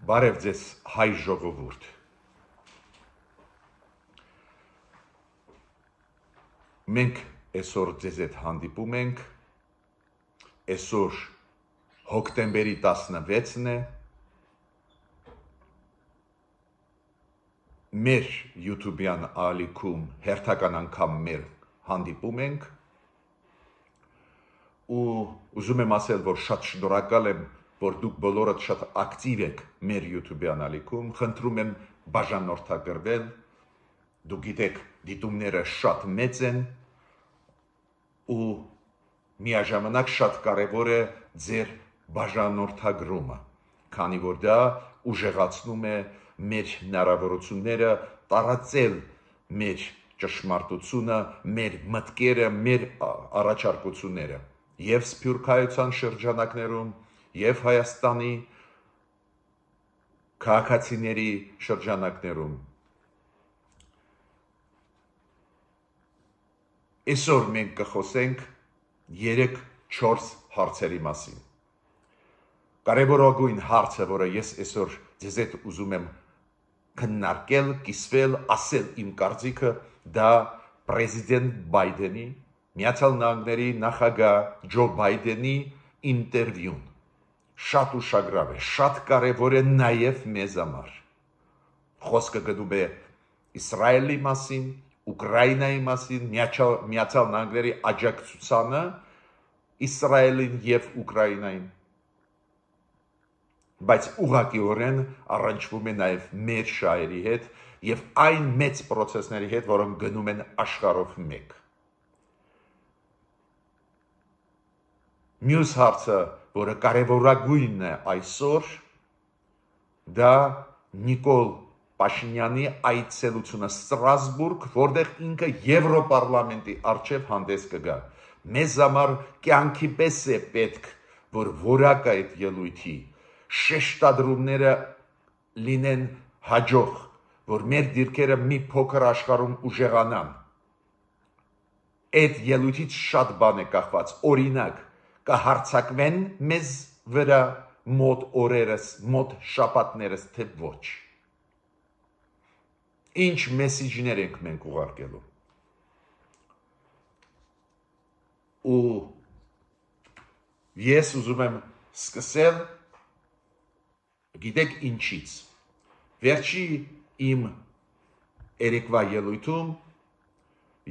Բարև ձեզ հայ ժողովուրդ։ Մենք այսօր ձեզ հետ հանդիպում ենք, այսօր հոկտեմբերի 16-ն է, մեր YouTube-յան ալիքում հերթական անգամ մեր հանդիպում ենք ու ուզում եմ ասել, որ շատ շնորհակալ եմ, որ դուք բոլորդ շատ ակտիվ եք մեր YouTube-յան ալիքում, խնդրում եմ բաժանորդագրվել, դուք գիտեք, դիտումները շատ մեծ են ու միաժամանակ շատ կարևոր է ձեր բաժանորդագրումը, քանի որ դա ուժեղացնում է մեր հնարավորությունները տարածել մեր ճշմարտությունը, մեր մտքերը, մեր առաջարկությունները եւ Սփյուռքայության շրջանակներում, եւ Հայաստանի քաղաքացիների շրջանակներում։ Այսօր մենք կխոսենք 3-4 հարցերի մասին։ Կարևորագույն հարցը, որը ես այսօր ձեզ հետ ուզում եմ քննարկել, կիսվել, ասել իմ կարծիքը, դա պրեզիդենտ Բայդենի, Միացյալ Նահանգների նախագահ Ջո Բայդենի ինտերվյուն։ Շատ ուշագրավ է, շատ կարևոր է նաև մեզ համար։ Խոսքը գնում է Իսրայելի մասին, Ուկրաինայի մասին, Միացյալ Նահանգների աջակցությանը Իսրայելին եւ Ուկրաինային, բայց ուղղակիորեն առնչվում է նաև մեր շահերի հետ եւ այն մեծ process-ների հետ, որոնք գնում են աշխարհով մեկ։ Մյուս հարցը, որը կարևորագույնն է այսօր, դա Նիկոլ Փաշինյանի այցելությունը Ստրասբուրգ, որտեղ ինքը Եվրոպարլամենտի առջև հանդես կգա։ Մեզ համար կյանքի պես է պետք, որ որակ այդ ելույթի շեշտադրումները լինեն հաջող, որ մեր դիրքերը մի փոքր աշխարհում ուժեղանան։ Այդ ելույթից շատ բան է կախված, օրինակ, կհարցակվեն մեզ վրա մոտ օրերս, մոտ շաբաթներս, թե ոչ։ Ինչ մեսիջներ ենք մենք ուղարկելու։ Ու ես ուզում եմ սկսել, գիտեք ինչից։ Վերջի իմ երեկվա ելույթում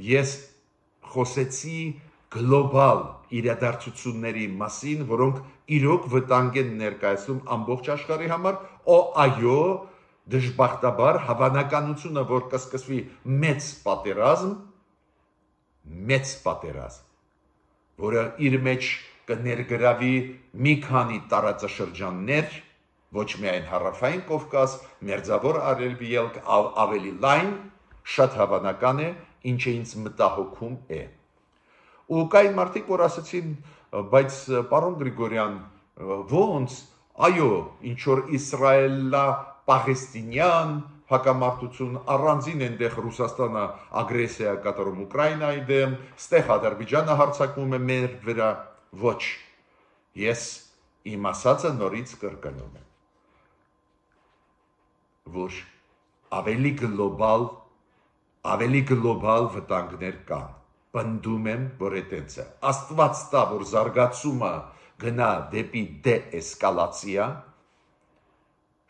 ես խոսեցի գլոբալ իրադարձությունների մասին, որոնք իրոք վտանգ են ներկայացնում ամբողջ աշխարհի համար, այո, դժբախտաբար հավանականությունը, որ կսկսվի մեծ պատերազմ, որը իր մեջ կներգրավի մի քանի տարածաշրջաններ, ոչ միայն Հարավային Կովկաս, Մերձավոր Արևելք, ավելի լայն, շատ հավանական է, ինչը ինձ մտահոգում է։ Ու կային մարդիկ, որ ասացին, բայց պարոն Գրիգորյան, ոնց, այո, ինչ որ իսրայելա-պաղեստինյան հակամարտություն, առանձին այնտեղ Ռուսաստանը ագրեսիա կատարում Ուկրաինայի դեմ, ստեղ Ադրբեջանը հարձակվում է մեր վրա, ոչ, ես իմ ասածը նորից կրկնում եմ, որ ավելի գլոբալ վտանգներ կան։ Պնդում եմ, որ այդպես է։ Աստված տա, որ զարգացումը գնա դեպի դեէսկալացիա,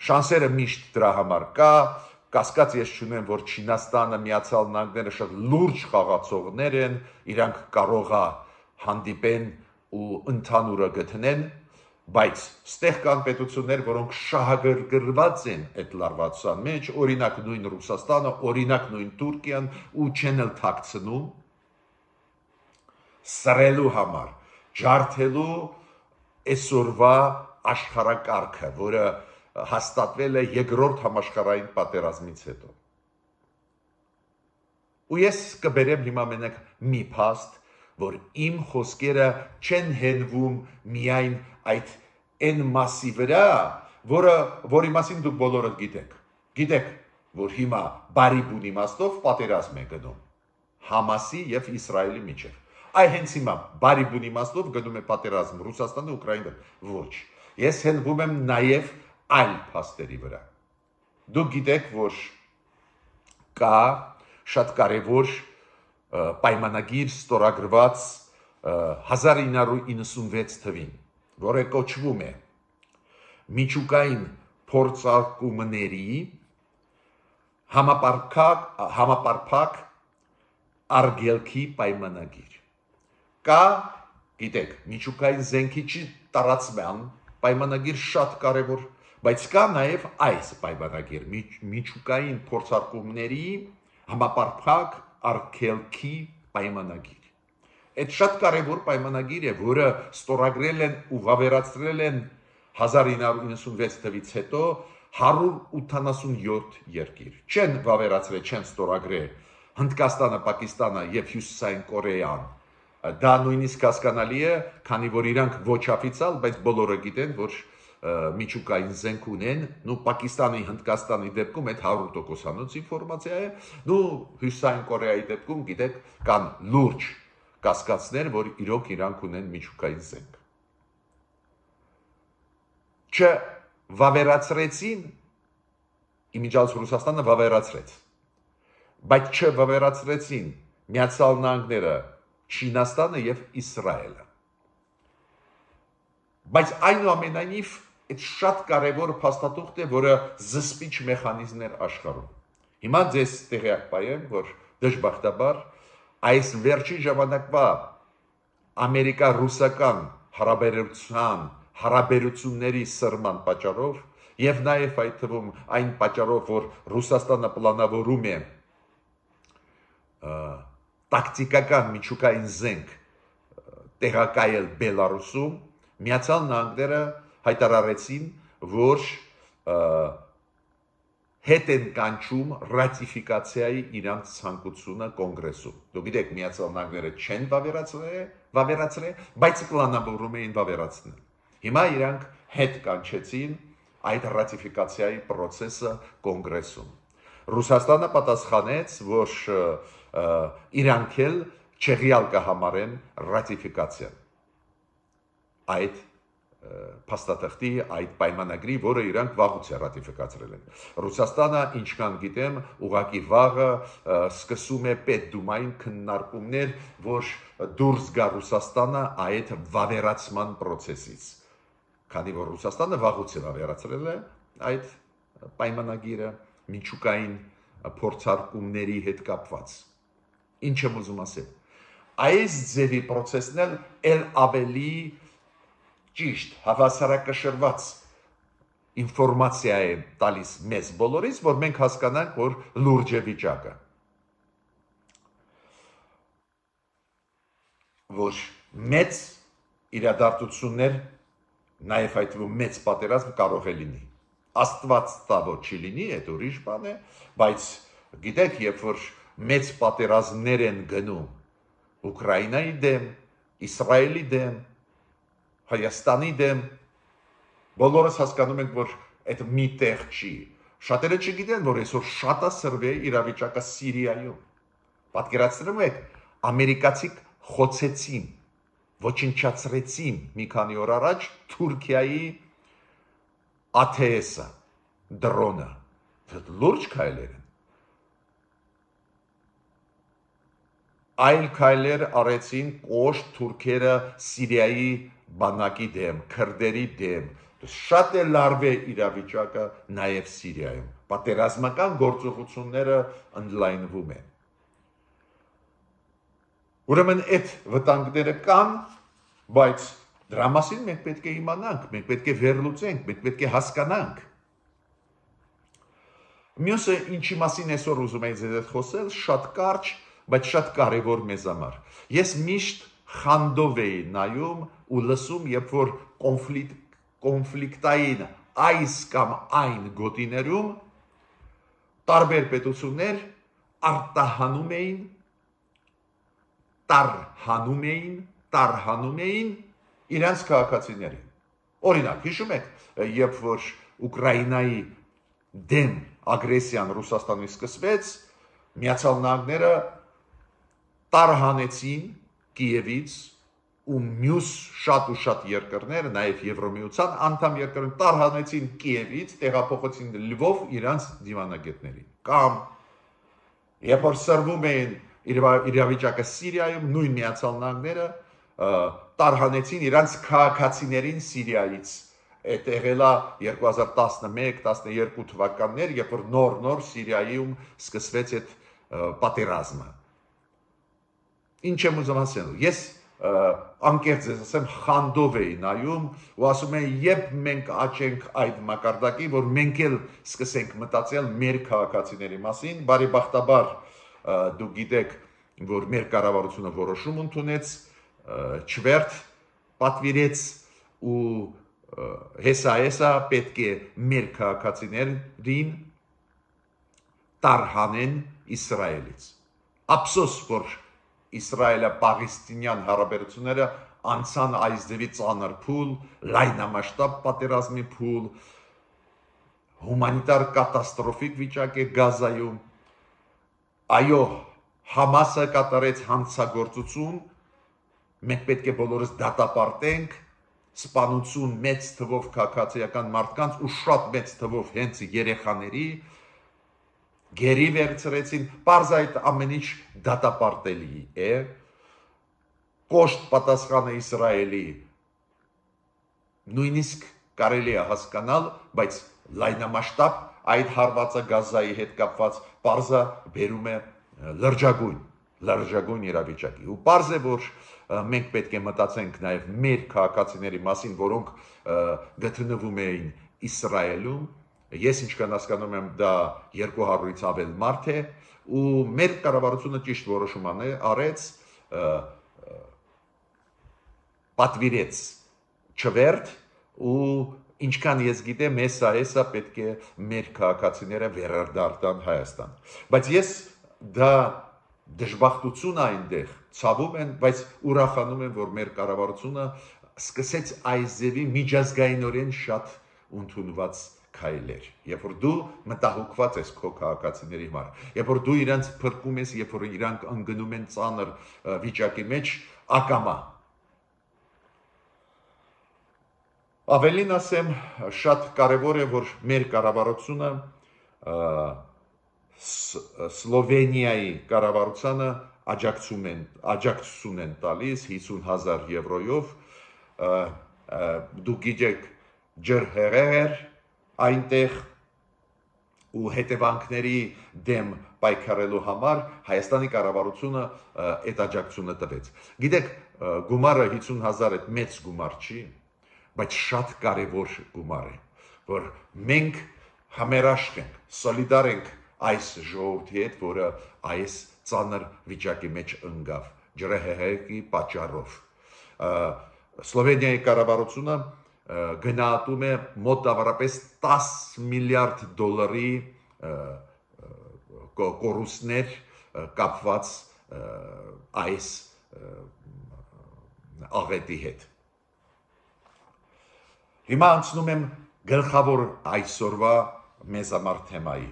շանսերը միշտ դրա համար կա, կասկած ես չունեմ, որ Չինաստանը, Միացյալ Նահանգները շատ լուրջ խաղացողներ են, իրանք կարող է հանդիպեն ու ընդհանուրը գտնեն, բայց ստեղ կան պետություններ, որոնք շահագրգռված են այդ լարվածության մեջ, օրինակ նույն Ռուսաստանը, օրինակ նույն Թուրքիան, ու չեն էլ թաքցնում սրելու համար, ջարդելու այսօրվա աշխարհակարգը, որը հաստատվել է երկրորդ համաշխարհային պատերազմից հետո։ Ու ես կբերեմ հիմա մենակ մի փաստ, որ իմ խոսքերը չեն հենվում միայն այդ այն մասի վրա, որի մասին դուք բոլորը գիտեք։ Գիտեք, որ հիմա բարի բուն իմաստով պատերազմ է գնում Համասի եւ Իսրայելի միջեւ։ Այ հենց հիմա բարի բուն իմաստով գնում է պատերազմ Ռուսաստանը, Ուկրաինան, ոչ։ Ես հենվում եմ նաև այլ փաստերի վրա։ Դուք գիտեք, որ կա շատ կարևոր պայմանագիր ստորագրված 1996 թվին, որը կոչվում է միջուկային փորձարկումների համապարփակ արգելքի պայմանագիր։ Կա, գիտեք, միջուկային զենքի տարածման պայմանագիր շատ կարևոր, բայց կա նաև այս պայմանագիր միջուկային փորձարկումների համապարփակ արգելքի պայմանագիր։ Այդ շատ կարևոր պայմանագիր է, որը ստորագրել են ու վավերացրել են 1996 թվից հետո 187 երկիր։ Չեն վավերացրել, չեն ստորագրել Հնդկաստանը, Պակիստանը եւ Հյուսիսային Կորեան։ Դա նույնիսկ հասկանալի է, քանի որ իրանք ոչ օֆիցիալ, բայց բոլորը գիտեն, որ միջուկային զենք ունեն, Պակիստանի, Հնդկաստանի դեպքում այդ 100%-անոց ինֆորմացիա է, Հյուսիսային Կորեայի դեպքում գիտեք, կան լուրջ կասկածներ, որ իրոք իրանք ունեն միջուկային զենք։ Չվավերացրեցին, իմիջիայլոց Ռուսաստանը վավերացրեց, բայց չվավերացրեցին Միացյալ Նահանգները, Չինաստանը եւ Իսրայելը։ Բայց այնուամենայնիվ այդ շատ կարևոր փաստաթուղթ է, որը զսպիչ մեխանիզմներ աշխարհում։ Հիմա ձեզ տեղյակ պայեմ, որ դժբախտաբար այս վերջին ժամանակվա ամերիկա-ռուսական հարաբերությունների սրման պատճառով եւ նաեւ այդ թվում այն պատճառով, որ Ռուսաստանը պլանավորում է տակտիկական միջուկային զենք տեղակայել Բելարուսում, Միացյալ Նահանգները հայտարարեցին, որ հետ են կանչում ռատիֆիկացիայի իրանց ցանկությունը կոնգրեսում։ Դուք գիտեք, Միացյալ Նահանգները չեն վավերացրել, բայց պլանավորում էին վավերացնել։ Հիմա իրանք հետ կանչեցին այդ ռատիֆիկացիայի process-ը կոնգրեսում։ Ռուսաստանը պատասխանեց, որ իրանք էլ չեղյալ կհամարեն ռատիֆիկացիան այդ փաստաթղթի, այդ պայմանագրի, որը իրանք վաղուց է ռատիֆիկացրել են։ Ռուսաստանը, ինչքան գիտեմ, ուղղակի վաղը սկսում է Պետդումային քննարկումներ, որ դուրս գա Ռուսաստանը այդ վավերացման process-ից։ Քանի որ Ռուսաստանը վաղուց է վավերացրել է այդ պայմանագիրը միջուկային փորձարկումների հետ կապված։ Ինչ եմ ուզում ասել։ Այս ձևի process-ն էլ ավելի ճիշտ, հավասարակշռված ինֆորմացիա է տալիս մեզ բոլորիս, որ մենք հասկանանք, որ լուրջ է վիճակը։ Որ մեծ իրադարձություններ, նաև այդ մեծ պատերազմ կարող է լինի։ Աստված տա, որ չի լինի, այդ ուրիշ բան է, բայց գիտեք, երբ որ մեծ պատերազմներ են գնում Ուկրաինայի դեմ, Իսրայելի դեմ, Հայաստանի դեմ, բոլորս հասկանում ենք, որ այդ մի տեղ չի։ Շատերը չգիտեն, որ այսօր շատ է սրվել իրավիճակը Սիրիայում։ Պատկերացնում եք, ամերիկացի խոցեցին, ոչնչացրեցին մի քանի օր առաջ Թուրքիայի ATS-ը, դրոնը, լուրջ քայլեր են։ Այլ քայլեր արեցին կոշտ թուրքերը Սիրիայի բանակի դեմ, քրդերի դեմ, շատ է լարվ է իրավիճակը նաև Սիրիայում, պատերազմական գործողությունները ընդլայնվում են։ Ուրեմն այդ վտանգները կան, բայց դրա մասին մենք պետք է իմանանք, մենք պետք է վերլուծենք, մենք պետք է հասկանանք։ Մյուսը, ինչի մասին այսօր ուզում եմ ձեզ հետ խոսել, շատ կարճ, բայց շատ կարևոր մեզ համար։ Ես միշտ խանդով էի նայում ու լսում, երբ որ կոնֆլիկտային այս կամ այն գոտիներում տարբեր պետություններ տարհանում էին իրենց քաղաքացիներին։ Օրինակ, հիշում եք, երբ որ Ուկրաինայի դեմ ագրեսիան Ռուսաստանի սկսվեց, Միացյալ Նահանգները տարհանեցին Կիևից ու մյուս շատ ու շատ երկրներ, նաև Եվրոմիության անդամ երկրներ տարհանեցին Կիևից, տեղափոխեցին Լվով իրանց դիվանագետներին։ Կամ երբ որ սրվում էին իրավիճակը Սիրիայում, նույն Միացյալ Նահանգները տարհանեցին իրանց քաղաքացիներին Սիրիայից։ Այդ եղել է 2011-12 թվականներ, երբ որ նոր Սիրիայում սկսվեց այդ պատերազմը։ Ինչ եմ ուզում ասել։ Ես անկեղծ ես ասեմ, խանդով էի նայում ու ասում էի, երբ մենք աճենք այդ մակարդակի, որ մենք էլ սկսենք մտածել մեր քաղաքացիների մասին, բարեբախտաբար դուք գիտեք, որ մեր կառավարությունը որոշում ընդունեց, չվերթ պատվիրեց ու հեսա պետք է մեր քաղաքացիներին տարհանեն Իսրայելից։ Ափսոս, որ Իսրայելա-Պաղեստինյան հարաբերությունները անցան այս ձևի ծանր փուլ, լայնամասշտաբ պատերազմի փուլ, հումանիտար կատաստրոֆիկ վիճակ է Գազայում։ Այո, Համասը կատարեց հանցագործություն, մենք պետք է բոլորս դատապարտենք, սպանություն մեծ թվով քաղաքացիական մարդկանց ու շատ մեծ թվով հենց երեխաների գերի վերցրեցին, պարզ այդ ամեն ինչ դատապարտելի է, կոշտ պատասխանը Իսրայելի նույնիսկ կարելի է հասկանալ, բայց լայնամասշտաբ այդ հարվածը Գազայի հետ կապված պարզը բերում է լրջագույն իրավիճակի։ Ու պարզ է, որ մենք պետք է մտածենք նաև մեր քաղաքացիների մասին, որոնք գտնվում էին Իսրայելում։ Ես ինչքան հասկանում եմ, դա 200-ից ավել մարդ է, ու մեր կառավարությունը ճիշտ որոշում արեց, պատվիրեց չվերթ, ու ինչքան ես գիտեմ, հեսա պետք է մեր քաղաքացիները վերադարձան Հայաստան։ Բայց ես դա դժբախտություն այնտեղ ցավում են, բայց ուրախանում եմ, որ մեր կառավարությունը սկսեց այս ձևի միջազգայինորեն շատ ընդունված քայլեր, երբ որ դու մտահոգված ես քո քաղաքացիների համար, երբ որ դու իրանց փրկում ես, երբ որ իրանք ընկնում են ծանր վիճակի մեջ, ակամա։ Ավելին ասեմ, շատ կարևոր է, որ մեր կառավարությունը Սլովենիայի կառավարությանը աջակցություն են տալիս 50,000 եվրոյով, դուք գիտեք ջրհեղեղեր այնտեղ ու հետևանքների դեմ պայքարելու համար Հայաստանի կառավարությունը այդ աջակցությունը տվեց։ Գիտեք, գումարը 50,000 այդ մեծ գումար չի, բայց շատ կարևոր գումար է, որ մենք համերաշխ ենք, սոլիդար ենք այս ժողովրդի հետ, որը այս ծանր վիճակի մեջ ընկավ ջրհեղեղի պատճառով։ Սլովենիայի կառավարությունը գնահատում է մոտավորապես 10 միլիարդ դոլարի կորուստներ կապված այս աղետի հետ։ Հիմա անցնում եմ գլխավոր այսօրվա մեզ համար թեմայի,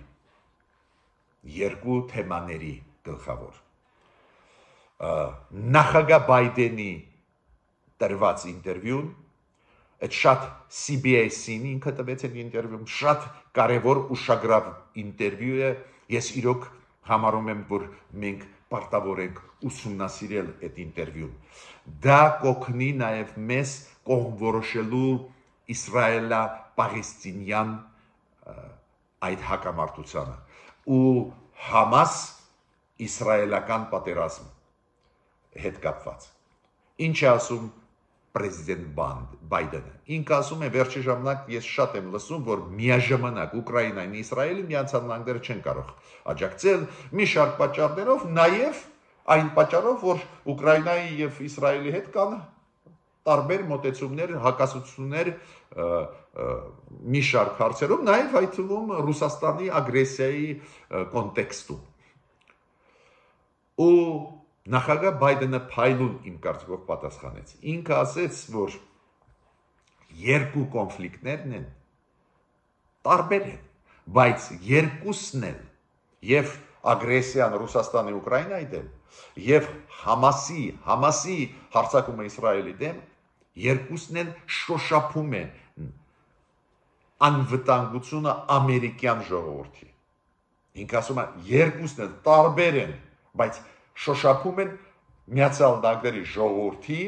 երկու թեմաների գլխավոր։ Նախագահ Բայդենի տրված ինտերվյուն, այդ շատ CBS-ին ինքը տվեց այդ ինտերվյուն, շատ կարևոր ուշագրավ ինտերվյու է, ես իրոք համարում եմ, որ մենք պարտավոր ենք ուսումնասիրել այդ ինտերվյուն։ Դա կօգնի նաև մեզ կողմ որոշելու իսրայելա-պաղեստինյան այդ հակամարտությանը ու Համաս-իսրայելական պատերազմ հետ կապված։ Ինչ է ասում Պրեզիդենտ Բայդենը։ Ինքը ասում է, վերջի ժամանակ ես շատ եմ լսում, որ միաժամանակ Ուկրաինային ու Իսրայելը Միացյալ Նահանգները չեն կարող աջակցել մի շարք պատճառներով, նաև այն պատճառով, որ Ուկրաինայի եւ Իսրայելի հետ կան տարբեր մոտեցումներ, հակասություններ մի շարք հարցերում, նաև այդ թվում Ռուսաստանի ագրեսիայի կոնտեքստում։ Ու նախագահ Բայդենը փայլուն իմ կարծիքով պատասխանեց։ Ինքը ասեց, որ երկու կոնֆլիկտներն են տարբեր են, բայց երկուսն էլ եւ ագրեսիան Ռուսաստանի Ուկրաինայի դեմ եւ Համասի հարձակումը Իսրայելի դեմ, երկուսն են շոշափում են անվտանգությունը ամերիկյան ժողովրդի։ Ինքը ասում է, երկուսն են տարբեր են, բայց շոշափում են Միացյալ Նահանգների ժողովրդի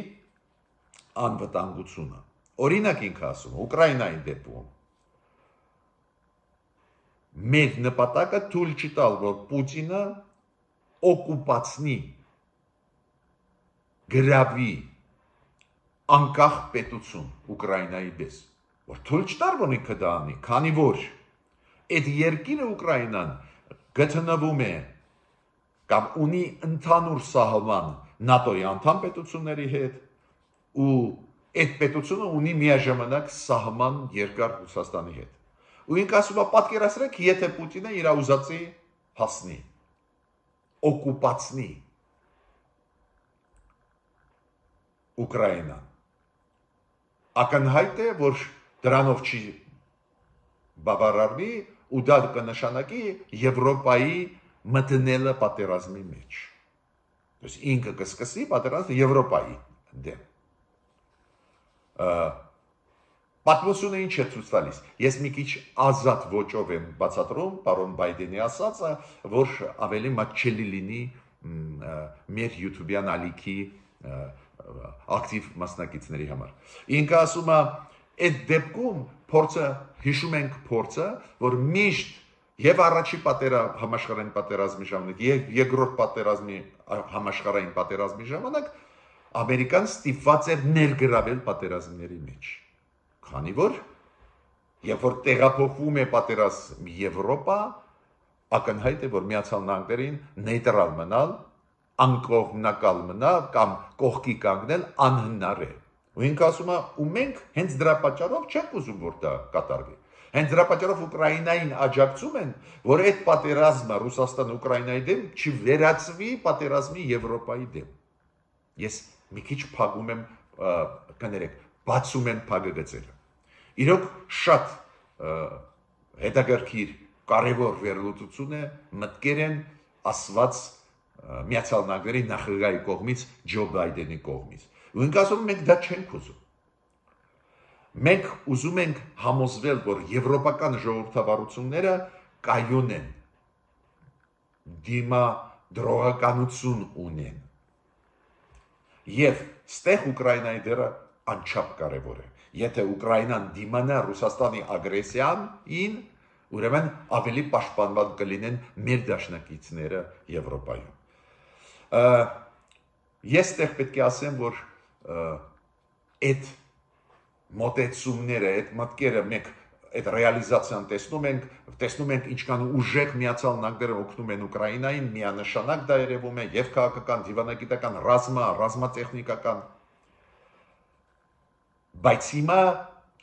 անվտանգությունը։ Օրինակ ինքը ասում է, Ուկրաինայի դեպքում մեր նպատակը թույլ չի տալ, որ Պուտինը օկուպացնի, գրավի անկախ պետություն Ուկրաինայի դես, որ թույլ չտար, որ ինքը դա անի, քանի որ այդ երկիրը Ուկրաինան գտնվում է կամ ունի ընդհանուր սահման ՆԱՏՕ-ի անդամ պետությունների հետ ու այդ պետությունը ունի միաժամանակ սահման երկար Ռուսաստանի հետ։ Ու ինքը ասում է, պատկերացրեք, եթե Պուտինը իր ուզածի հասնի, օկուպացնի Ուկրաինան, ակնհայտ է, որ դրանով չի բավարարվի ու դա կնշանակի Եվրոպայի մտնելը պատերազմի մեջ։ Ինքը կսկսի պատերազմը Եվրոպայի դեմ։ Պատմությունը ինչ է ցույց տալիս։ Ես մի քիչ ազատ ոճով եմ բացատրում պարոն Բայդենի ասածը, որ ավելի մատչելի լինի մեր YouTube-յան ալիքի ակտիվ մասնակիցների համար։ Ինքը ասում է, այդ դեպքում հիշում ենք փորձը, որ միշտ եւ առաջի համաշխարհային պատերազմի ժամանակ, եւ երկրորդ համաշխարհային պատերազմի ժամանակ Ամերիկան ստիպված էր ներգրավել պատերազմների մեջ։ Քանի որ երբ որ տեղափոխվում է պատերազմ Եվրոպա, ակնհայտ է, որ Միացյալ Նահանգներին նեյտրալ մնալ, անկողմնակալ մնալ կամ կողքի կանգնել անհնար է։ Ու ինքը ասում է, ու մենք հենց դրա պատճառով չենք ուզում, որ դա կատարվի։ Հենց դրա պատճառով Ուկրաինային աջակցում են, որ այդ պատերազմը Ռուսաստան-Ուկրաինայի դեմ չվերածվի պատերազմի Եվրոպայի դեմ։ Ես մի քիչ փակում եմ, կներեք, բացում եմ փակագծերը։ Իրոք շատ հետաքրքիր կարևոր վերլուծություն է, մտքեր են ասված Միացյալ Նահանգների նախագահի կողմից, Ջո Բայդենի կողմից։ Ու ինքը ասում մենք դա չենք ուզում։ Մենք ուզում ենք համոզվել, որ եվրոպական ժողովրդավարությունները կայուն են, դիմադրողականություն ունեն։ Եվ ստեղ Ուկրաինայի դերը անչափ կարևոր է։ Եթե Ուկրաինան դիմանա Ռուսաստանի ագրեսիային, ուրեմն ավելի պաշտպանված կլինեն մեր դաշնակիցները Եվրոպայում։ Ես ստեղ պետք է ասեմ, որ այդ մոտեցումները, այդ մտքերը մենք այդ ռեալիզացիան տեսնում ենք ինչքան ուժեղ Միացյալ Նահանգները օգնում են Ուկրաինային, միանշանակ դա երևում է եւ քաղաքական, դիվանագիտական, ռազմատեխնիկական։ Բայց հիմա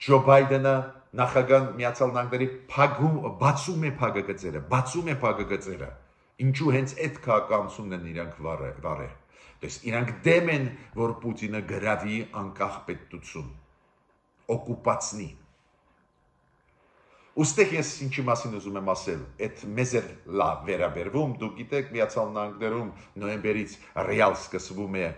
Ջո Բայդենը նախագահ Միացյալ Նահանգների բացում է փակագծերը, ինչու հենց այդ քաղաքականությունն են իրանք վարել։ Իրանք դեմ են, որ Պուտինը գրավի անկախ պետություն, օկուպացնի։ Ուստեղ ես ինչի մասին ուզում եմ ասել, այդ մեզ է լավ վերաբերվում, դուք գիտեք, Միացյալ Նահանգներում նոյեմբերից ռեալ սկսվում է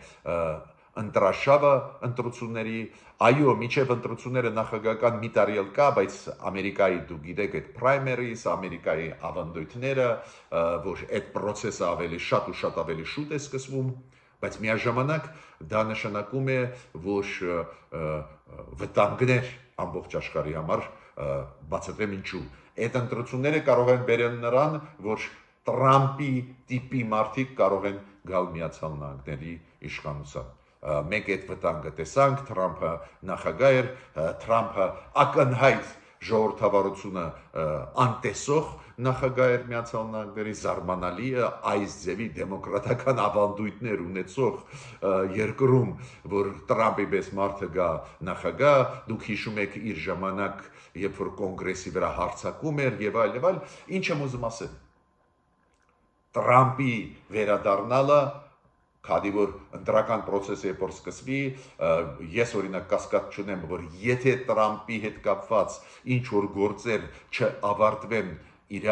ընտրաշավը ընտրությունների, այո, միջև ընտրությունները նախագահական մի տարի էլ կա, բայց Ամերիկայի դուք գիտեք այդ պրայմերիս, Ամերիկայի ավանդույթները, որ այդ process-ը ավելի շատ ու շատ ավելի շուտ է սկսվում, բայց միաժամանակ դա նշանակում է, որ վտանգներ ամբողջ աշխարհի համար բացատրեմ ինչու։ Այդ ընտրությունները կարող են բերել նրան, որ Տրամպի տիպի մարդիկ կարող են գալ Միացյալ Նահանգների իշխանության։ Մենք այդ վտանգը տեսանք, Տրամպը նախագահ էր, Տրամպը ակնհայտ ժողովրդավարությունը անտեսող նախագահ էր Միացյալ Նահանգների, զարմանալի է այս ձևի դեմոկրատական ավանդույթներ ունեցող երկրում, որ Տրամպի պես մարդը գա նախագահ, դուք հիշում եք իր ժամանակ, երբ որ կոնգրեսի վրա հարձակում էր եւ այլ, ինչ եմ ուզում ասել։ Տրամպի վերադառնալը քանի որ ընտրական process-ը երբ որ սկսվի, ես օրինակ կասկած չունեմ, որ եթե Տրամպի հետ կապված ինչ որ գործեր չավարտվեն իր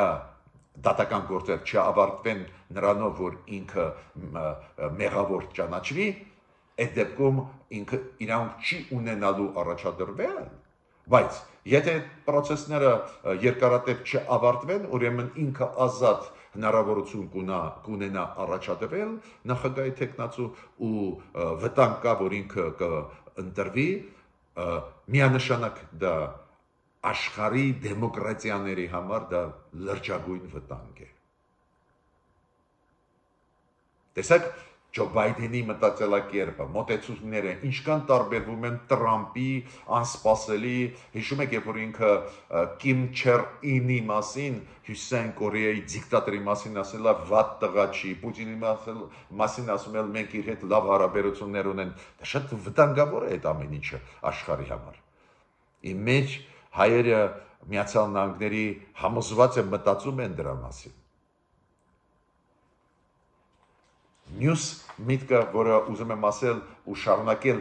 դատական գործեր չավարտվեն նրանով, որ ինքը մեղավոր ճանաչվի, այդ դեպքում ինքը իրավունք չի ունենալու առաջադրվել, բայց եթե process-ները երկարատև չավարտվեն, ուրեմն ինքը ազատ հնարավորություն կունենա առաջադրվել նախագահի թեկնածու ու վտանգ կա, որ ինքը կընտրվի, միանշանակ դա աշխարհի դեմոկրատիաների համար դա լրջագույն վտանգ է։ Տեսեք, Ջո Բայդենի մտածելակերպը, մոտեցումները ինչքան տարբերվում են Տրամպի անսպասելի, հիշում եք, երբ որ ինքը Կիմ Չեր Ինի մասին, Հյուսիսային Կորեայի դիկտատորի մասին ասել է վատ տղա չի, Պուտինի մասին ասում էլ մենք իր հետ լավ հարաբերություններ ունեն, դա շատ վտանգավոր է այդ ամեն ինչը աշխարհի համար։ Իմ մեջ հայերը Միացյալ Նահանգների համոզված են մտածում են դրա մասին։ Մյուս միտքը, որը ուզում եմ ասել ու շարունակել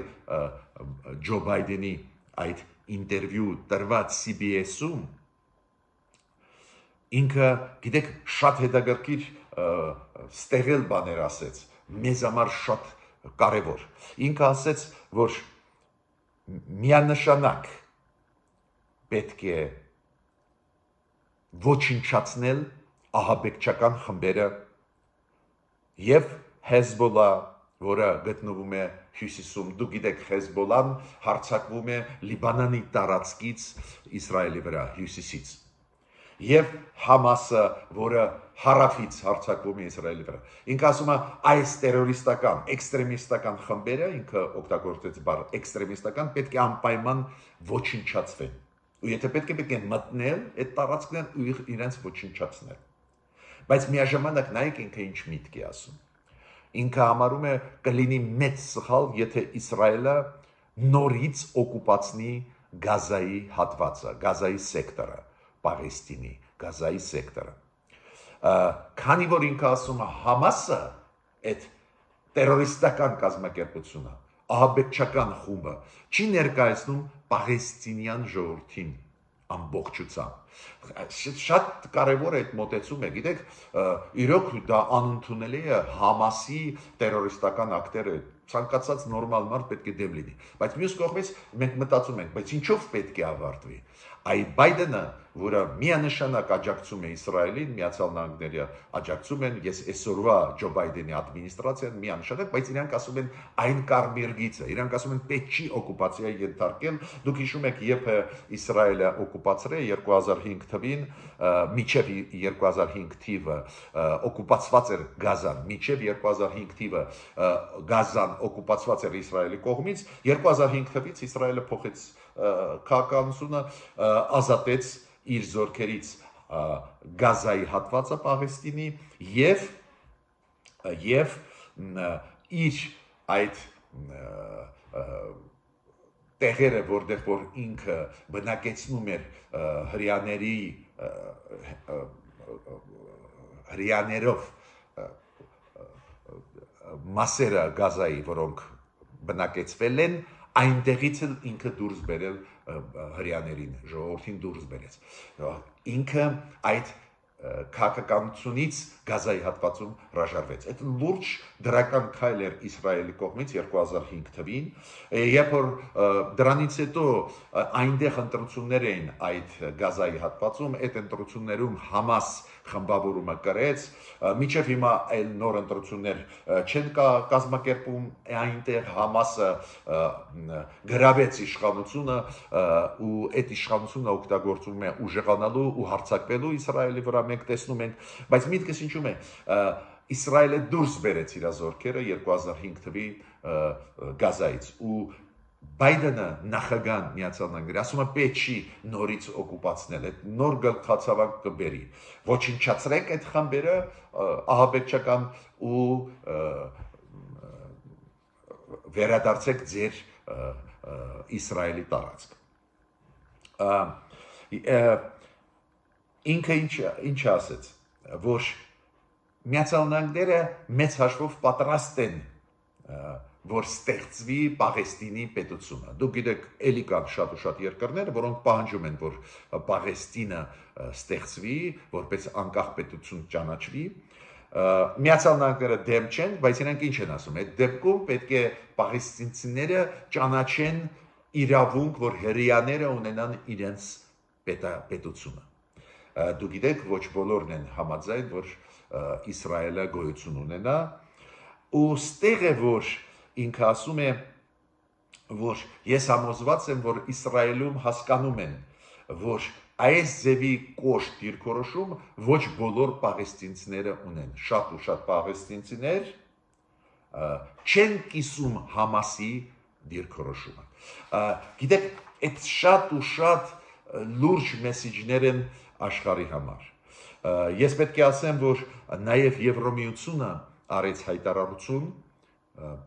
Ջո Բայդենի այդ ինտերվյու տրված CBS-ում, ինքը, գիտեք, շատ հետաքրքիր ստեղել բաներ ասեց, մեզ համար շատ կարևոր։ Ինքը ասեց, որ միանշանակ պետք է ոչնչացնել ահաբեկչական խմբերը եւ Հեզբոլլա, որը գտնվում է հյուսիսում, դուք գիտեք, Հեզբոլլան հարձակվում է Լիբանանի տարածքից Իսրայելի վրա, հյուսիսից, եւ Համասը, որը հարավից հարձակվում է Իսրայելի վրա։ Ինքը ասում է, այս տերորիստական, էքստրեմիստական խմբերը, ինքը օգտագործեց բառ էքստրեմիստական, պետք է անպայման ոչնչացվեն։ Ու եթե պետք է մտնել այդ տարածքներն ու իրենց ոչնչացնել։ Բայց միաժամանակ նայեք ինքը ինչ միտք է ասում։ Ինքը համարում է կլինի մեծ սխալ, եթե Իսրայելը նորից օկուպացնի Գազայի հատվածը, Գազայի սեկտորը, Պաղեստինի, Գազայի սեկտորը։ Քանի որ ինքը ասում է Համասը, այդ տերորիստական կազմակերպությունը, ահաբեկչական խումբը, չի ներկայացնում Պաղեստինյան ժողովրդին ամբողջությամբ։ Շատ կարևոր է այդ մոտեցումը, գիտեք, իրոք դա անընդունելի է Համասի տերորիստական ակտերը, ցանկացած նորմալ մարդ պետք է դեմ լինի, բայց մյուս կողմից մենք մտածում ենք, բայց ինչով պետք է ավարտվի։ Այդ Բայդենը, որը միանշանակ աջակցում է Իսրայելին, Միացյալ Նահանգները աջակցում են, ես այսօրվա Ջո Բայդենի ադմինիստրացիան միանշանակ, բայց իրանք ասում են այն կարմիր գիծը, իրանք ասում են պետք չի օկուպացիայի ենթարկել, դուք հիշում եք, երբ Իսրայելը օկուպացրել 2005 թվին, մինչև 2005 թիվը օկուպացված էր Գազան, մինչև 2005 թիվը Գազան օկուպացված էր Իսրայելի կողմից, 2005 թվից Իսրայելը փոխեց քաղաքականությունը, ազատեց իր զորքերից Գազայի հատվածը Պաղեստինի եւ իր այդ տեղերը, որտեղ որ ինքը բնակեցնում էր հրյաներով մասերը Գազայի, որոնք բնակեցվել են, այնտեղից էլ ինքը դուրս բերել հրյաներին, ժողովրդին դուրս բերեց։ Ինքը այդ քաղաքականությունից Գազայի հատվածում հրաժարվեց։ Այդ լուրջ դրական քայլ էր Իսրայելի կողմից 2005 թվին, երբ որ դրանից հետո այնտեղ ընտրություններ էին այդ Գազայի հատվածում, այդ ընտրություններում Համաս խմբավորումը կրեց, մինչև հիմա այլ նոր ընտրություններ չեն կազմակերպում, այնտեղ Համասը գրավեց իշխանությունը ու այդ իշխանությունը օգտագործում է ուժեղանալու ու հարձակվելու Իսրայելի վրա, մենք տեսնում ենք, բայց միտքս ինչու՞մ է, Իսրայելը դուրս բերեց իր զորքերը 2005 թվի Գազայից ու Բայդենը նախագահան Միացյալ Նահանգների ասում է պետք չի նորից օկուպացնել, այդ նոր գլխացավանք կբերի, ոչնչացրեք այդ խմբերը ահաբեկչական ու վերադարձեք ձեր Իսրայելի տարածք։ Ինքը ինչ ասեց, որ Միացյալ Նահանգները մեծ հաշվով պատրաստ են որ ստեղծվի Պաղեստինի պետությունը։ Դուք գիտեք, էլի կան շատ ու շատ երկրներ, որոնք պահանջում են, որ Պաղեստինը ստեղծվի, որպես անկախ պետություն ճանաչվի։ Միացյալ Նահանգները դեմ չեն, բայց իրենք ինչ են ասում։ Այդ դեպքում պետք է պաղեստինցիները ճանաչեն իրավունք, որ հրեաները ունենան իրենց պետությունը։ Դուք գիտեք, ոչ բոլորն են համաձայն, որ Իսրայելը գոյություն ունենա, ու ստեղ է, որ ինքը ասում է, որ ես համոզված եմ, որ Իսրայելում հասկանում են, որ այս ձևի կոշտ դիրքորոշում ոչ բոլոր պաղեստինցիները ունեն։ Շատ ու շատ պաղեստինցիներ չեն կիսում Համասի դիրքորոշումը։ Գիտեք, այդ շատ ու շատ լուրջ մեսիջներ են աշխարհի համար։ Ես պետք է ասեմ, որ նաև Եվրոմիությունը արեց հայտարարություն,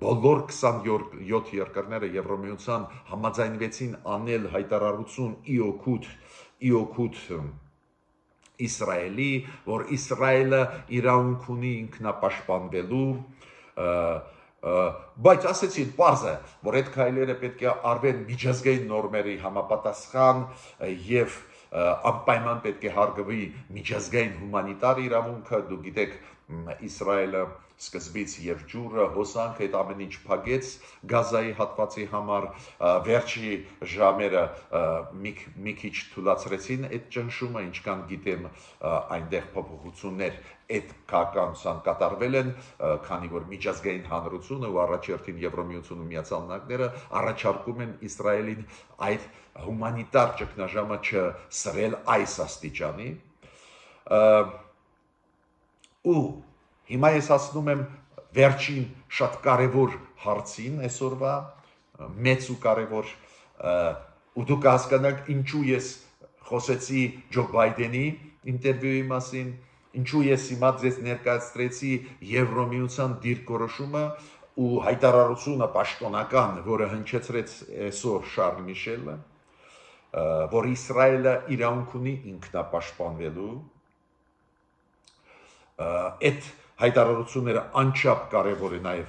բոլոր 27 երկրները Եվրոմիության համաձայնվեցին անել հայտարարություն իօգուտ Իսրայելի, որ Իսրայելը իրավունք ունի ինքնապաշտպանվելու, բայց ասեցին պարզ է, որ այդ քայլերը պետք է արվեն միջազգային նորմերի համապատասխան եւ անպայման պետք է հարգվի միջազգային հումանիտար իրավունքը։ Դուք գիտեք, Իսրայելը սկզբից եւ ջուրը հոսանք այդ ամեն ինչ փակեց Գազայի հատվածի համար, վերջի ժամերը մի քիչ թույլատրեցին այդ ճնշումը, ինչքան գիտեմ այնտեղ փոփոխություններ այդ քաղաքականության կատարվել են, քանի որ միջազգային հանրությունը ու առաջերտին Եվրոմիությունը ու Միացյալ Նահանգները առաջարկում են Իսրայելին այդ հումանիտար ճգնաժամը չսրել այս աստիճանի։ Ու հիմա ես ասնում եմ վերջին շատ կարևոր հարցին այսօրվա, մեծ ու կարևոր, ու դուք հասկանաք ինչու ես խոսեցի Ջո Բայդենի ինտերվյուի մասին, ինչու ես հիմա ձեզ ներկայացրեցի Եվրոմիության դիրքորոշումը ու հայտարարությունը պաշտոնական, որը հնչեցրեց այսօր Շարլ Միշելը, որ Իսրայելը իրավունք ունի ինքնապաշտպանվելու, այդ հայտարարությունները անչափ կարևոր է նաև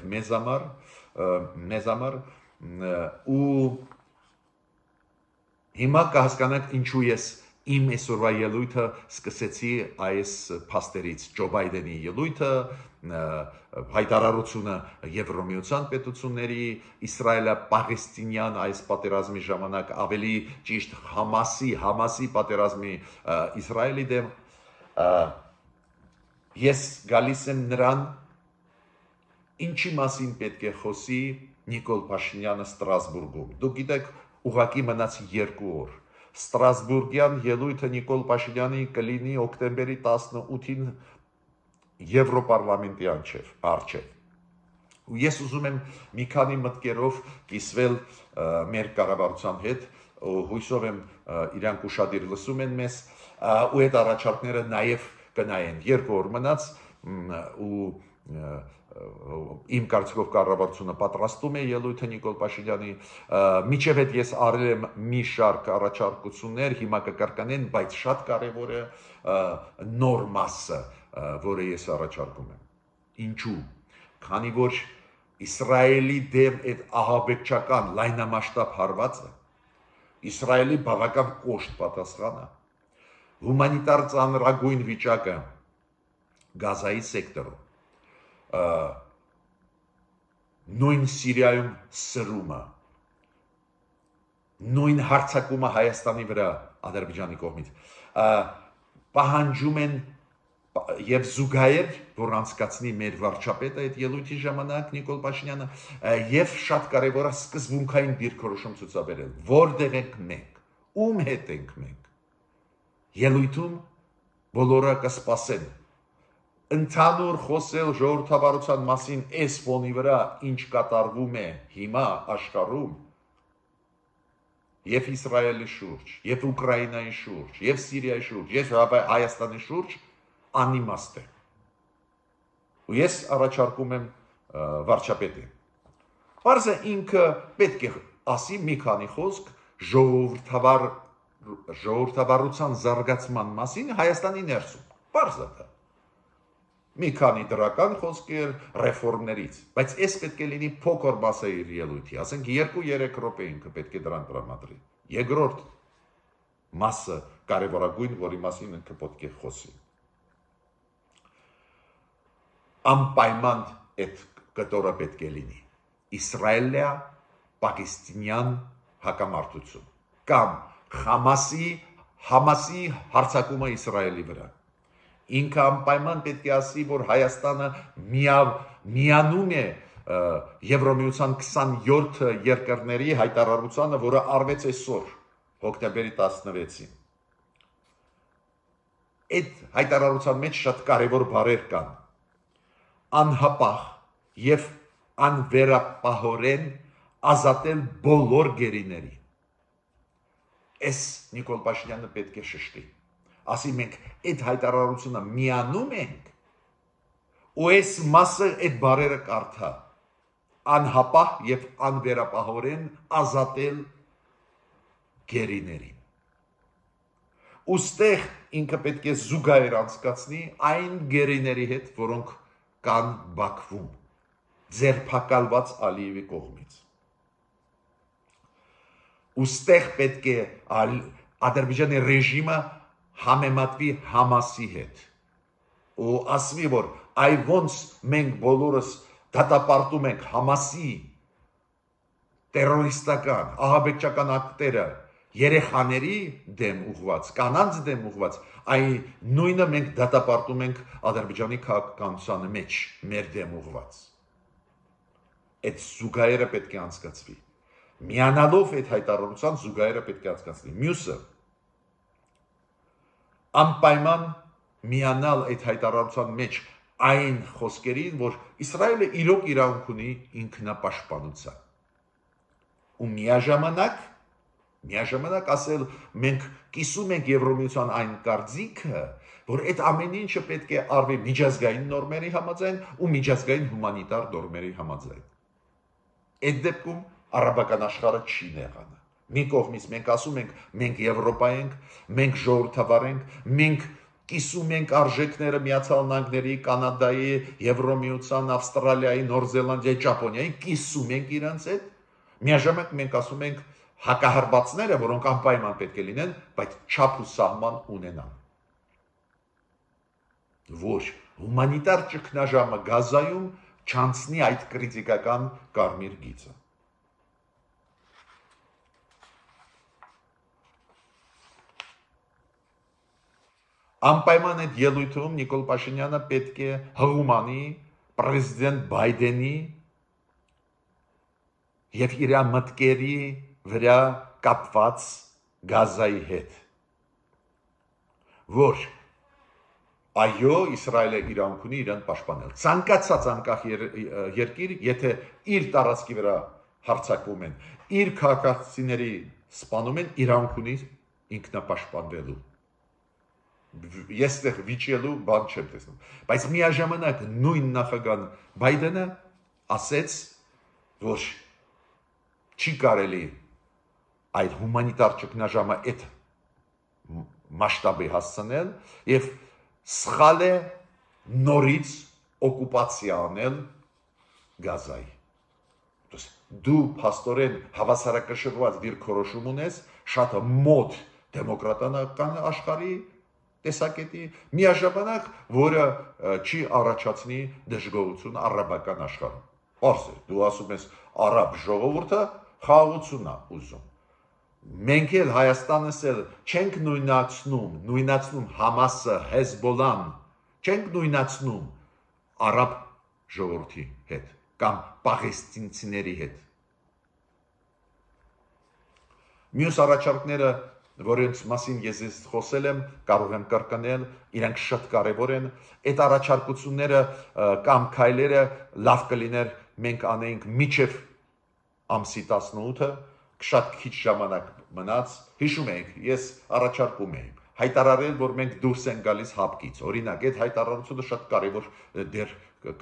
մեզ համար, ու հիմա կհասկանաք ինչու ես իմ այսօրվա ելույթը սկսեցի այս փաստերից, Ջո Բայդենի ելույթը, հայտարարությունը Եվրոմիության պետությունների, Իսրայելը Պաղեստինյան այս պատերազմի ժամանակ ավելի ճիշտ Համասի պատերազմի Իսրայելի դեմ, ես գալիս եմ նրան, ինչի մասին պետք է խոսի Նիկոլ Փաշինյանը Ստրասբուրգում։ Դուք գիտեք, ուղղակի մնաց 2 օր։ Ստրասբուրգյան ելույթը Նիկոլ Փաշինյանի կլինի օկտեմբերի 18-ին Եվրոպարլամենտի առջև։ Ու ես ուզում եմ մի քանի մտքերով կիսվել մեր կառավարության հետ, հույսով եմ իրանք ուշադիր լսում են մեզ, ու այդ առաջարկները նաև կնայեն 2 օր մնաց, ու իմ կարծիքով կառավարությունը պատրաստում է ելույթը Նիկոլ Փաշինյանի, միջև այդ ես արել եմ մի շարք առաջարկություններ, հիմա կկրկնեն, բայց շատ կարևոր է նոր մասը, որը ես առաջարկում եմ։ Ինչու՞։ Քանի որ Իսրայելի դեմ այդ ահաբեկչական լայնամասշտաբ հարվածը Իսրայելի բավական կոշտ պատասխանը, հումանիտար ծանրագույն վիճակը Գազայի սեկտորում, նույն Սիրիայում սրումը, նույն հարձակումը Հայաստանի վրա Ադրբեջանի կողմից, պահանջում են եւ զուգահեռ, որ անցկացնի մեր վարչապետը այդ ելույթի ժամանակ Նիկոլ Փաշինյանը, եւ շատ կարեւոր է սկզբունքային դիրքորոշում ցուցաբերել, որտեղ ենք մենք, ում հետ ենք մենք։ Ելույթում բոլորը կսպասեն ընդհանուր խոսել ժողովրդավարության մասին այս ֆոնի վրա, ինչ կատարվում է հիմա աշխարհում, եւ Իսրայելի շուրջ, եւ Ուկրաինայի շուրջ, եւ Սիրիայի շուրջ, եւ Հայաստանի շուրջ անիմաստ է։ Ու ես առաջարկում եմ վարչապետին։ Պարզ է ինքը պետք է ասի մի քանի խոսք ժողովրդավարության զարգացման մասին Հայաստանի ներսում։ Պարզ է դա։ մի քանի դրական խոսքեր ռեֆորմներից, բայց այս պետք է լինի փոքր մասը իր ելույթի, ասենք 2-3 րոպե ինքը պետք է դրան տրամադրի։ Երկրորդ մասը կարևորագույն, որի մասին ինքը պետք է խոսի։ Անպայման այդ կտորը պետք է լինի Իսրայելիա-Պակիստինյան հակամարտություն կամ Համասի հարձակումը Իսրայելի վրա։ Ինքը անպայման պետք է ասի, որ Հայաստանը միանում է Եվրոմիության 27 երկրների հայտարարությանը, որը արվեց այսօր, հոկտեմբերի 16-ին։ Այդ հայտարարության մեջ շատ կարևոր բառեր կան։ Անհապաղ եւ անվերապահորեն ազատել բոլոր գերիների։ Այս Նիկոլ Փաշինյանը պետք է շշտի։ Ասի մենք այդ հայտարարությունը միանում ենք ու այս մասը այդ բառերը կարդա։ Անհապաղ եւ անվերապահորեն ազատել գերիներին։ Ոստեղ ինքը պետք է զուգահեռ անցկացնի այն գերիների հետ, որոնք կան Բաքվում, ձերբակալված Ալիևի կողմից։ Ոստեղ պետք է Ադրբեջանի ռեժիմը համեմատվի Համասի հետ ու ասվի, որ այ ոնց մենք բոլորս դատապարտում ենք Համասի տերորիստական, ահաբեկչական ակտերը երեխաների դեմ ուղված, կանանց դեմ ուղված, այ նույնը մենք դատապարտում ենք Ադրբեջանի քաղաքականության մեջ մեր դեմ ուղված։ Այդ զուգահեռը պետք է անցկացվի։ Միանալով այդ հայտարարության զուգահեռը պետք է անցկացվի։ Մյուսը անպայման միանալ այդ հայտարարության մեջ այն խոսքերին, որ Իսրայելը իրոք իրավունք ունի ինքնապաշտպանության։ Ու միաժամանակ ասել մենք կիսում ենք Եվրոմիության այն կարծիքը, որ այդ ամեն ինչը պետք է արվի միջազգային նորմերի համաձայն ու միջազգային հումանիտար նորմերի համաձայն։ Այդ դեպքում արաբական աշխարհը չի նեղանա։ Մի կողմից մենք ասում ենք, մենք Եվրոպա ենք, մենք ժողովրդավար ենք, մենք կիսում ենք արժեքները Միացյալ Նահանգների, Կանադայի, Եվրոմիության, Ավստրալիայի, Նոր Զելանդիայի, Ճապոնիայի, կիսում ենք իրենց հետ։ Միաժամանակ մենք ասում ենք հակահարվածները, որոնք անպայման պետք է լինեն, բայց չափ ու սահման ունենան։ Ոչ, հումանիտար ճգնաժամը Գազայում չանցնի այդ կրիտիկական կարմիր գիծը։ Անպայման այդ ելույթում Նիկոլ Փաշինյանը պետք է հղումանի պրեզիդենտ Բայդենի եւ իր մտքերի վրա կապված Գազայի հետ, որ այո, Իսրայելը իրավունք ունի իրեն պաշտպանել։ Ցանկացած անկախ երկիր, եթե իր տարածքի վրա հարձակվում են, իր քաղաքացիների սպանում են, իրավունք ունի ինքնապաշտպանվելու։ Ես դեռ վիճելու բան չեմ տեսնում, բայց միաժամանակ նույն նախագահ Բայդենը ասեց, որ չի կարելի այդ հումանիտար ճգնաժամը այդ մասշտաբի հասցնել եւ սխալ է նորից օկուպացիա անել Գազայի։ Դու փաստորեն հավասարակշռված դիրքորոշում ունես շատ մոտ դեմոկրատական աշխարհի տեսակետի, միաժամանակ, որը չի առաջացնի դժգոհություն արաբական աշխարհում։ Պարզ է, դու ասում ես արաբ ժողովուրդը խաղաղություն է ուզում։ Մենք էլ Հայաստանս էլ չենք նույնացնում Համասը, Հեզբոլան, չենք նույնացնում արաբ ժողովրդի հետ կամ պաղեստինցիների հետ։ Մյուս առաջարկները, որոնց մասին ես խոսել եմ, կարող եմ կրկնել, իրենք շատ կարևոր են։ Այդ առաջարկությունները կամ քայլերը լավ կլիներ մենք անեինք միջև ամսի 18-ը, շատ քիչ ժամանակ մնաց, հիշում եք, ես առաջարկում եմ հայտարարել, որ մենք դուրս ենք գալիս հապկից։ Օրինակ, այդ հայտարարությունը շատ կարևոր դեր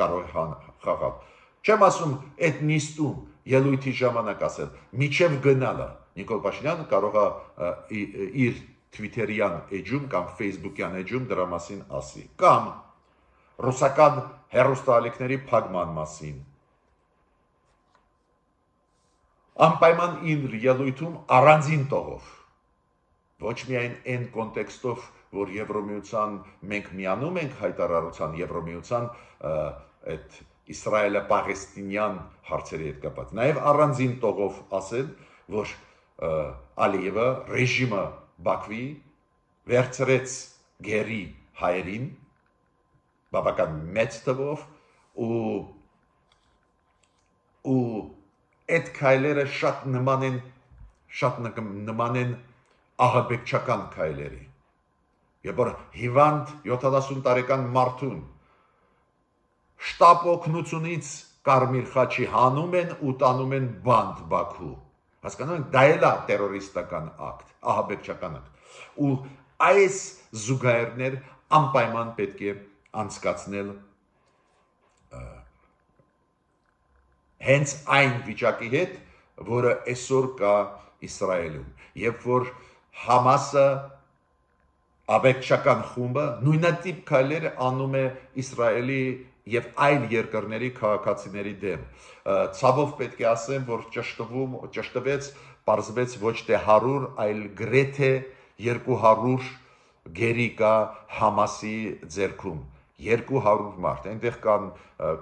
կարող է խաղալ։ Չեմ ասում այդ նիստում ելույթի ժամանակ ասել, միջև գնալը Նիկոլ Փաշինյանը կարող է իր Twitter-յան էջում կամ Facebook-յան էջում դրա մասին ասի։ Կամ ռուսական հեռուստաալիքների փակման մասին։ Անպայման իր ելույթում առանձին տողով, ոչ միայն այն կոնտեքստով, որ Եվրոմիության մենք միանում ենք հայտարարության Եվրոմիության այդ Իսրայելը-Պաղեստինյան հարցերի հետ կապված, նաև առանձին տողով ասել, որ Ալիևը ռեժիմը Բաքվի վերցրեց գերի հայերին բավական մեծ թվով ու այդ քայլերը շատ նման են ահաբեկչական քայլերի։ Երբ որ հիվանդ 70 տարեկան մարդուն շտապ օգնությունից Կարմիր խաչի հանում են ու տանում են բանդ Բաքու։ Հասկանում եք, դա էլ է տերորիստական ակտ, ահաբեկչական ակտ։ Ու այս զուգահեռներ անպայման պետք է անցկացնել հենց այն վիճակի հետ, որը այսօր կա Իսրայելում, երբ որ Համասը աբեկչական խումբը նույնատիպ քայլեր անում է Իսրայելի եւ այլ երկրների քաղաքացիների դեմ։ Ցավով պետք է ասեմ, որ ճշտվեց, պարզվեց ոչ թե 100, այլ գրեթե 200 գերի կա Համասի ձեռքում։ 200 մարդ, այնտեղ կան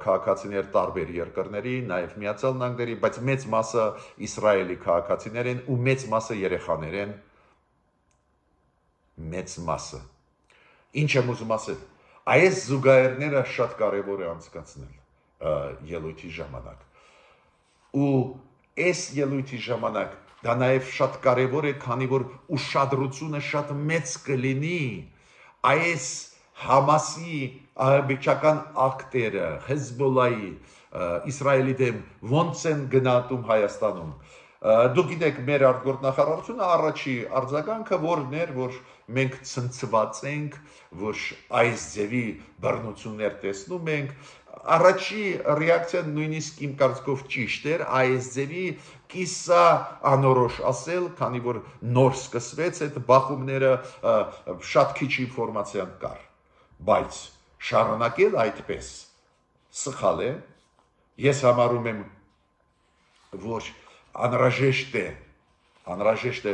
քաղաքացիներ տարբեր երկրների, նաև Միացյալ Նահանգների, բայց մեծ մասը Իսրայելի քաղաքացիներ են ու մեծ մասը երեխաներ են, մեծ մասը։ Ինչ եմ ուզում ասել, այս զուգահեռները շատ կարևոր է անցկացնել ելույթի ժամանակ։ Ու այս ելույթի ժամանակ դա նաև շատ կարևոր է, քանի որ ուշադրությունը շատ մեծ կլինի այս Համասի ահաբեկչական ակտերը, Հեզբոլայի, Իսրայելի դեմ ոնց են գնահատում Հայաստանում։ Դուք գիտեք, մեր արտգործնախարարությունը առաջի արձագանքը որն էր, որ մենք ցնցված ենք, որ այս ձևի բռնություններ տեսնում ենք։ Առաջի ռեակցիան նույնիսկ իմ կարծիքով ճիշտ էր, այս ձևի կիսա անորոշ ասել, քանի որ նոր սկսվեց այդ բախումները, շատ քիչ ինֆորմացիա կար, բայց շարունակել այդպես սխալ է։ Ես համարում եմ, որ անհրաժեշտ է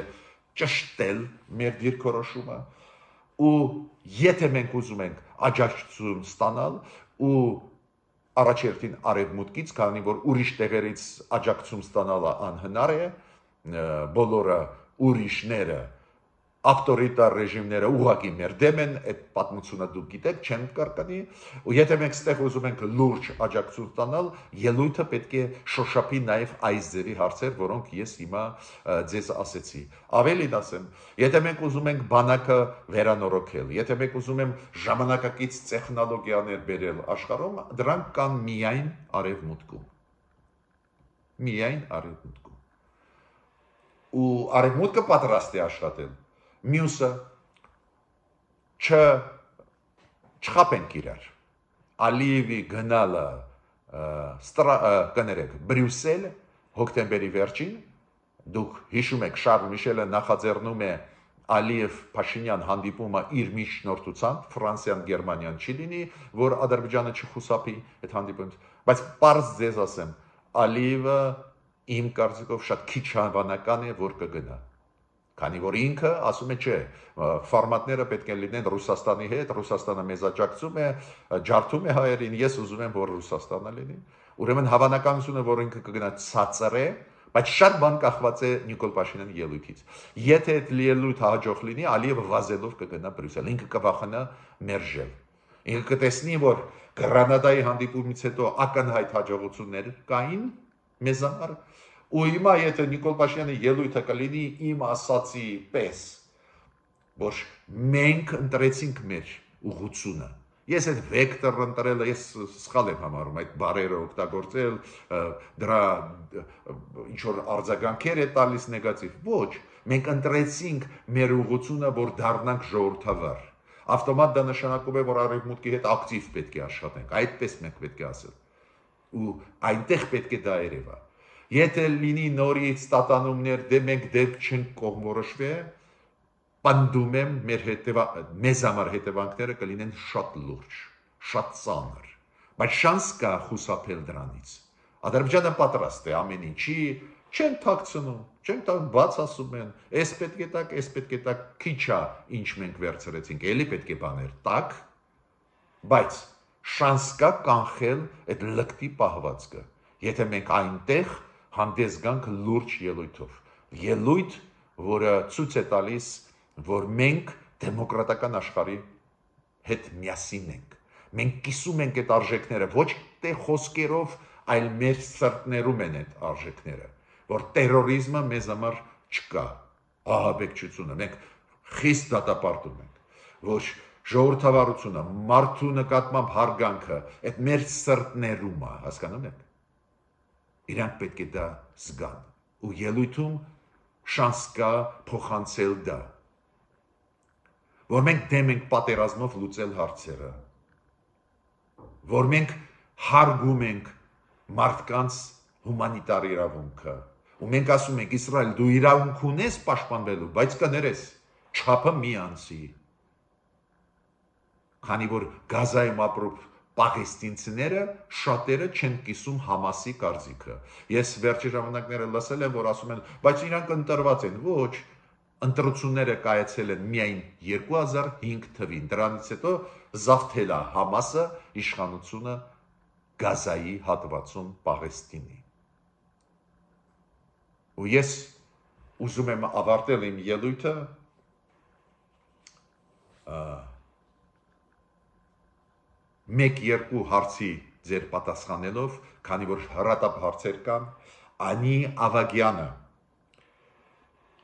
ճշտել մեր դիրքորոշումը ու եթե մենք ուզում ենք աջակցություն ստանալ ու առաջերտին արևմուտքից, քանի որ ուրիշ տեղերից աջակցություն ստանալը անհնար է, բոլորը ուրիշները ավտորիտար ռեժիմները ուղղակի մեր դեմ են, այդ պատմությունը դուք գիտեք, չեն կրկնի, ու եթե մենք ստեղ ուզում ենք լուրջ աջակցություն ստանալ, ելույթը պետք է շոշափի նաև այս ձևի հարցեր, որոնք ես հիմա ձեզ ասեցի։ Ավելին ասեմ, եթե մենք ուզում ենք բանակը վերանորոգել, եթե մենք ուզում ենք ժամանակակից տեխնոլոգիաներ բերել աշխարհում, դրանք կան միայն արևմուտքում։ Միայն արևմուտքում։ Ու արևմուտքը պատրաստ է աշխատել։ Մյուսը չխապենք իրար։ Ալիևի գնալը կներեք Բրյուսել հոկտեմբերի վերջին, դուք հիշում եք Շարլ Միշելը նախաձեռնում է Ալիև-Փաշինյան հանդիպումը իր միջնորդությամբ, Ֆրանսիան, Գերմանիան չի լինի, որ Ադրբեջանը չխուսափի այդ հանդիպումից, բայց պարզ ձեզ ասեմ, Ալիևը իմ կարծիքով շատ քիչ հավանական է, որ կգնա։ Քանի որ ինքը ասում է չէ, ֆորմատները պետք է լինեն Ռուսաստանի հետ, Ռուսաստանը մեզ աջակցում է, ջարդում է հայերին, ես ուզում եմ, որ Ռուսաստանը լինի։ Ուրեմն հավանականությունը, որ ինքը կգնա ցածր է, բայց շատ բան կախված է Նիկոլ Փաշինյանի ելույթից։ Եթե այդ ելույթը հաջող լինի, Ալիևը վազելով կգնա Բրյուսել, ինքը կվախենա մերժել։ Ինքը կտեսնի, որ Գրանադայի հանդիպումից հետո ակնհայտ հաջողություններ կային մեզ համար։ Ու հիմա եթե Նիկոլ Փաշինյանի ելույթը կլինի իմ ասացի պես, որ մենք ընտրեցինք մեր ուղղությունը, ես այդ վեկտորը ընտրելը ես սխալ եմ համարում, այդ բառերը օգտագործել, դրա ինչ-որ արձագանքեր է տալիս նեգատիվ, ոչ, մենք ընտրեցինք մեր ուղղությունը, որ դառնանք ժողովրդավար, ավտոմատ դա նշանակում է, որ արևմուտքի հետ ակտիվ պետք է աշխատենք, այդպես մենք պետք է ասել, ու այնտեղ պետք է դա երևա։ Եթե լինի նորից տատանումներ, դե մենք դեպք չենք կողմորոշվի, պնդում եմ մեզ համար հետևանքները կլինեն շատ լուրջ։ շատ ծանր, բայց շանս կա խուսափել դրանից։ Ադրբեջանը պատրաստ է ամեն ինչի, չեն թաքցնում, բաց ասում են, այս պետք է տակ, այս պետք է տակ, քիչ է ինչ մենք վերցրեցինք, էլի պետք է բաներ տակ, բայց շանս կա կանխել այդ լկտի պահվածքը, եթե մենք այնտեղ հանդես գանք լուրջ ելույթով, ելույթ, որը ցույց է տալիս, որ մենք դեմոկրատական աշխարհի հետ միասին ենք, մենք կիսում ենք այդ արժեքները, ոչ թե խոսքերով, այլ մեր սրտներում են այդ արժեքները, որ տերորիզմը մեզ համար չկա, ահաբեկչությունը, մենք խիստ դատապարտում ենք, որ ժողովրդավարությունը, մարդու նկատմամբ հարգանքը, այդ մեր սրտներում է, հասկանում եք, իրանք պետք է դա զգան, ու ելույթում շանս կա փոխանցել դա, որ մենք դեմ ենք պատերազմով լուծել հարցերը, որ մենք հարգում ենք մարդկանց հումանիտար իրավունքը, ու մենք ասում ենք Իսրայել դու իրավունք ունես պաշտպանվելու, բայց կներես չափը մի անցի, քանի որ Գազայում ապրող պաղեստինցիները շատերը չեն կիսում Համասի կարծիքը։ Ես վերջի ժամանակները լսել եմ, որ ասում են, բայց իրանք ընտրված են, ոչ, ընտրությունները կայացել են միայն 2005 թվին, դրանից հետո զավթել է Համասը իշխանությունը Գազայի հատվածում Պաղեստինի։ Ու ես ուզում եմ ավարտել իմ ելույթը մեկ-երկու հարցի ձեր պատասխանելով, քանի որ հրատապ հարցեր կան, Անի Ավագյանը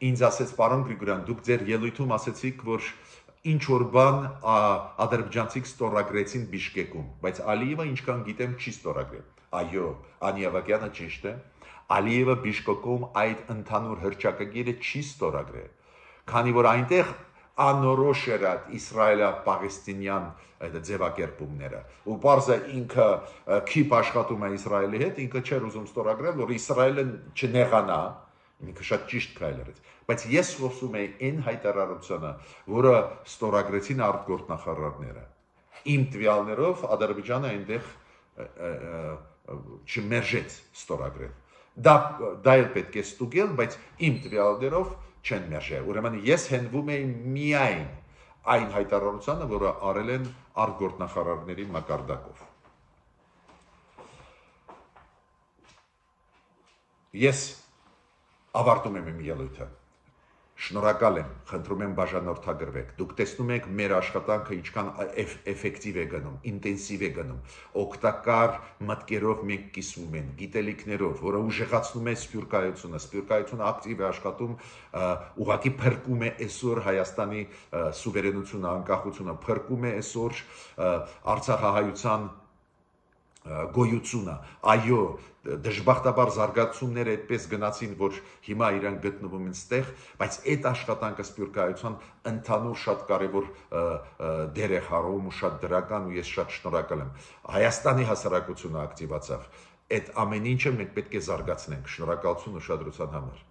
ինձ ասեց, պարոն Գրիգորյան, դուք ձեր ելույթում ասեցիք, որ ինչ որ բան ադրբեջանցիք ստորագրեցին Բիշկեկում, բայց Ալիևը ինչքան գիտեմ չի ստորագրել։ Այո, Անի Ավագյանը ճիշտ է, Ալիևը Բիշկեկում այդ ընդհանուր հռչակագիրը չի ստորագրել, քանի որ այնտեղ անորոշ էր իսրայելա-պաղեստինյան ձևակերպումները, ու պարզը ինքը քիփ աշխատում է Իսրայելի հետ, ինքը չէր ուզում ստորագրել, որ Իսրայելը չնեղանա, ինքը շատ ճիշտ քայլ արեց, բայց ես խոսում եի այն հայտարարությունը, որը ստորագրեցին արտգործնախարարները, իմ տվյալներով Ադրբեջանը այնտեղ չմերժեց ստորագրել, դա էլ պետք է ստուգել, բայց իմ տվյալներով չեն մերժել, ուրեմն ես հենվում եի միայն այն հայտարարությանը, որը արել են արտգործնախարարների մակարդակով։ Ես ավարտում եմ իմ ելույթը, շնորհակալ եմ, խնդրում եմ բաժանորդագրվեք, դուք տեսնում եք մեր աշխատանքը ինչքան էֆեկտիվ է գնում, ինտենսիվ է գնում, օգտակար մտքերով մենք կիսվում են, գիտելիքներով, որը ուժեղացնում է սփյուռքայությունը ակտիվ է աշխատում, ուղղակի փրկում է այսօր Հայաստանի սուվերենությունը, անկախությունը, փրկում է այսօր Արցախահայության գոյությունը, այո, դժբախտաբար զարգացումները այդպես գնացին, որ հիմա իրանք գտնվում են ստեղ, բայց այդ աշխատանքը սփյուռքայության ընդհանուր շատ կարևոր դեր է խաղում ու շատ դրական, ու ես շատ շնորհակալ եմ։ Հայաստանի հասարակությունը ակտիվացավ, այդ ամեն ինչը մենք պետք է զարգացնենք, շնորհակալություն ուշադրության համար։